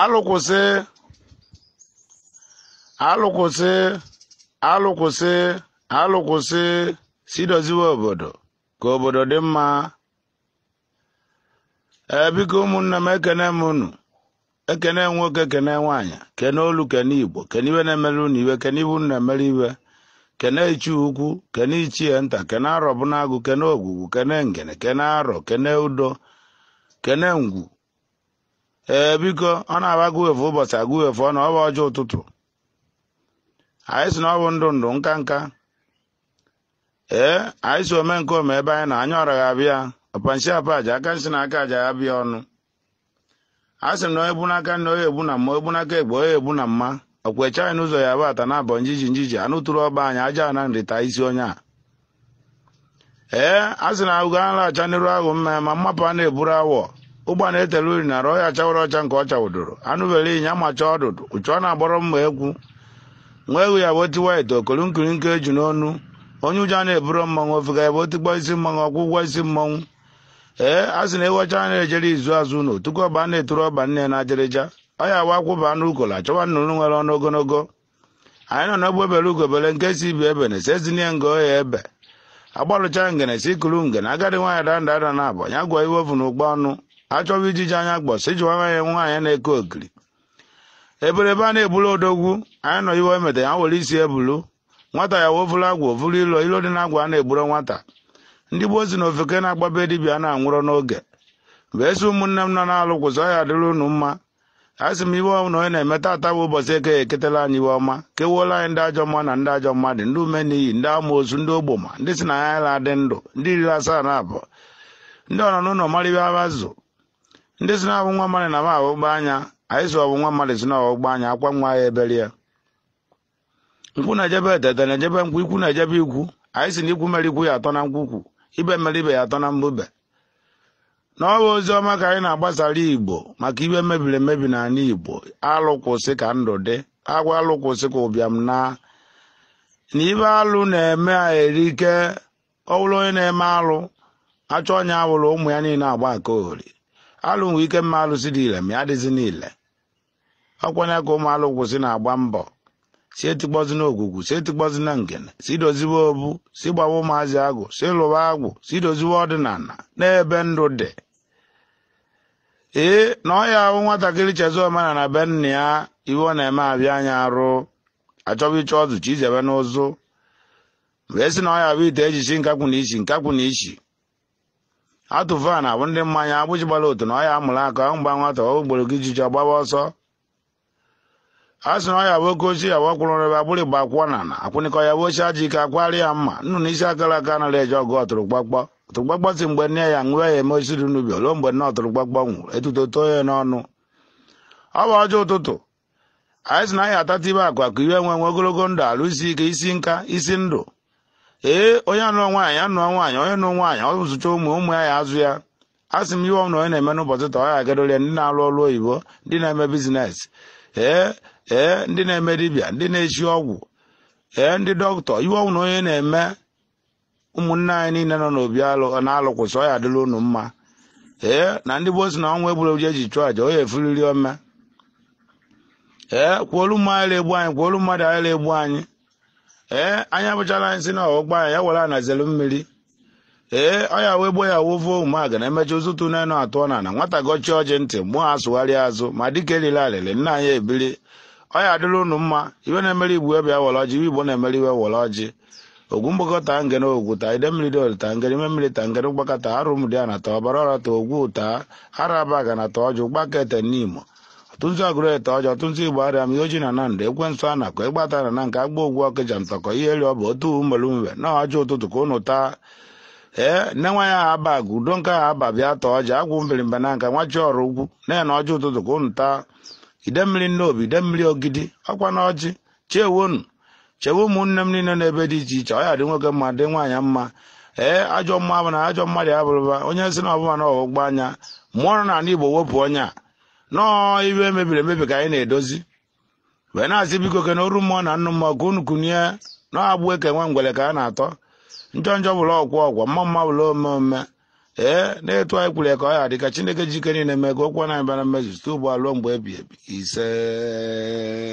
Alụkwụsị, alụkwụsị, alụkwụsị, alụkwụsị, si doziwe obodo ka obodo dị mma. Ee, biko ụmụnne m, ekene m unu, ekene nwoke, kene nwaanyị, kene olu, kene Igbo, kene iwe na-emere unu iwe, kene iwe unu na-emere iwe, kene ichie ukwu, kene ichie nta, kene arọ bụnagụ, kene ogwugwu, kene ngene, kene arọ, kene udo, kene ngwu. Ee, biko ọ na-aba agụwefu ụbọchị agụwefu ọ na ọ bụ ọjọọ ụtụtụ. Anyị si na ọ bụ ndụ ndụ nka nka. Ee, anyị si ome nke ome ebe anyị na anya ọra ga-abịa ọpanshi apaja aka nsi na aka aja ya bịa ọnụ. A sị m na onye egbu n'aka nne onye egbu na mma, egbu n'aka egbe onye egbu na mma. Ọkwecha anyị n'ụzọ ya bụ ata na abọ njiji njiji anụ tụrụ ọba anyị aja na nrịta isi onye a. Ee, a sị na ugo a na-acha n'iru ahụ mma ma mmapụ a na-eburu awọ. Ụgba na-etele uri na arụ ya chawara ọcha nke ọ chawụdoro. Anụ bere ịnya macha ọdụdụ ụchụ ọ na-agbọrọ mma egwu. Nwa egwu ya bụ otiwa ite okolu nkiri nke eju n'ọnụ. Onye ụjọ na-eburu mmanwụ ofega ya bụ otikpọ isi mmanwụ ọkwụ ụgwọ isi mmanwụ. Ee, a sị na ewecha na-ejere izu azụ ụlọ tupu ọba na-eturu ọba nne na ajịrịja. Ọ ya awa akwụba anụ ukola chọwa nnụnụ nwere ọnụ ogologo. Anyị nọ n'ogbe bere ugobere nke si ibi ebe na esezinie nga oya ebe. Agbalụcha ngene si kuru ngene agadi nwaanyị danda ada na abọ ya gwa iwe ofu na ụgbọ ọnụ. Achọba ijiji anya gbọ si jụwa nwaanyị nwaanyị na-eke okiri. Eberebe a na-ebulu odogwu anyị nọ iwe emete ya were isi ebulu. Nwata ya wofuru agwa ofuru ilo ilo dị na agwa a na-egburo nwata. Ndị gboo si na ofeke na-agbabe dibịa na-anwụrọ n'oge. Mgbe esi ụmụnne m nọ na-alụ kwụsị ọ ya adịrị unu mma. A sị m iwe ọma na onye na-eme tata bụ ụbọchị eke eketela anyị iwe ọma, kewuola anyị ndị ajọ mmụọ na ndị ajọ mmadụ, ndị ume n'iyi, ndị amoosu, ndị ogboma, ndị si na anyị la dị ndụ, ndị riri asaa na abụọ, ndị ọ nọ n'ụlọ mara ibe abazụ, ndị si na abụ nwa mmadụ na m ahụgba anya, anyị si ọbụ nwa mmadụ si na ọgbụgba anya, akwa nwa ya ebere ya. Nkwụ na-ejebe etete na-ejebe nkwụ, ikwu na-ejebe ikwu, anyị si na ikwu mere ikwu ya atọ na nkwukwu, ibe mere ibe ya atọ na mbube. N'ọwa ozi ọma ka anyị na-agbasara Igbo maka iwe mebiri emebi n'ala Igbo. Alụkwụsị ka ndụ dị, agwa alụkwụsị ka ụbịam na na ibe alụ na-eme a erike. Ọ bụrụ onye na-eme alụ achọ onye awụrụ ụmụ ya niile agba aka ori. Alụ nwere ike mma alụsị dị ile ma ya adịzi niile. Ọkwanye ka ụmụ alụkwụsị na-agba mbọ si etikpọzi na ogwugwu, si etikpọzi na ngene, si doziwe obu, si gbawa ụmụazị agụ, si lụwa agwụ, si doziwe ọdịnala n'ebe ndụ dị. Ee, na ọ ya ahụ nwatakịrị chezo omenala be nna ya, iwe ọ na-eme abịa anya arụ, achọba ịchọ ọzụ chi izebe n'ụzụ. Wee sị na ọ ya bụ ite ejichi nkakwụ na ichi nkakwụ na ichi. Atụfa na abụ ndị mmanya agbụchi gbara otu na ọ ya amụrụ aka mgba nwata ọ ugboro gị jiji ọgbaba ọsọ. A sị na ọ ya bụ oke ochie ya bụ ọkwụrụ ebe agbụrụ igba akwụọ na na akwụnịkọ ya bụ ochie aja ike akwari ya mma nnụnụ isi akara aka nara eje ọgụ ọtụrụgbakpọ ọtụrụgbakpọ si mgbe nne ya ṅụọ ya eme osiri n'ubi ruo mgbe nne ọtụrụgbakpọ nwụrụ etuto too ya n'ọnụ. Ọ bụ ọjọọ ụtụtụ. Anyị sị na anyị atata ibe akụ akụ iwe nwe nwe ogologo ndụ alụ isi ike isi nka isi ndụ. Ee, onye anụọ nwaanyị anụọ nwaanyị, onye nụ nwaanyị ọ zụcha ụmụ ụmụ ya ya azụ ya. A sị m iwe ọmụna onye na-eme n'ụbọchị taa ọ ya agadoro ya ndị na-alụ ọrụ oyibo, ndị na-eme bizines, ee ee ndị na-eme dibịa, ndị na-echi ọgwụ, ee ndị dọkịta, iwe ọmụna onye na-eme. Ụmụnne anyị niile nọ n'obi alụ na-alụkwụsị ọ ya adịla unu mma. Ee, na ndị gboo si na ọnwa egburu eji eji chụọ aja onye efuriri ome. Ee, kwuolu mmadụ anyị egbu anyị, kwuolu mmadụ anyị egbu anyị. Ee, anyị abụchala anyị si na ọgbọ anyị ya were anazelu mmiri. Ee, ọ ya wee gbuo ya wovuo ụmụaga na emecha ụzụtụ n'enu atụọ na na nwata gọchie ọjị ntị mmụọ asụgharị azụ ma dịka eriri alịlị nna anyị ebiri. Ọ ya adịla unu mma. Iwe na-emere igbo ebe ya were ọjị, iwe igbo na-emere iwe were ọjị. Ogwu mgbakọta ngene ogwu taa, ide mmiri dị taa ngene ime mmiri taa ngene mgbakọta arụ m dị ana taa ọbara ọra taa ogwu taa araba ga na taa ọjị ụgbaka ete n'imo ọtụtụ agụrụ ete ọjị ọtụtụ igbo arịa m ihe oji na na ndụ ekwensu anakọ ịgbata na na nke agba ogwu ọkịja ntọkọ ihe eri ọ bụ otu mmelumbe na ọjị ụtụtụ ka unu taa. Ee, nne nwa ya aba agụ udo nke ahụ aba bịa taa ọjị agwụ mbirimba na nka nwa chi ọrụ ugwu na ya na ọjị ụtụtụ ka unu taa. Ide mmiri nnobi ide mmiri ogidi ọkwa na ọjị chewonu chewe ụmụnne m niile n'ebe dị iche iche ọ ya dị nwoke mma dị nwaanyị mma. Ee, ajọ mma bụ na ajọ mmadụ abụrụba onye si na ọbụma na ọgbụgba anya mmụọ nọ n'ala Igbo wepụ onye a nọọ iwe mebiri emebi ka anyị na-edozi. Wee na-asị biko ke na oru mmụọ na nnụ mmụọ ka unu kunie nọọ agbụ eke nwe ngwere ka a na-atọ njọ njọ bụla ọkwọ ọgwọ mma mma bụla ome ome. Ee, na-etu anyị kwuru ya ka ọ ya dị ka Chineke jike niile mee ka okwu na-abịa na mmezu site ugbu a ruo mgbe ebi ebi. Ise.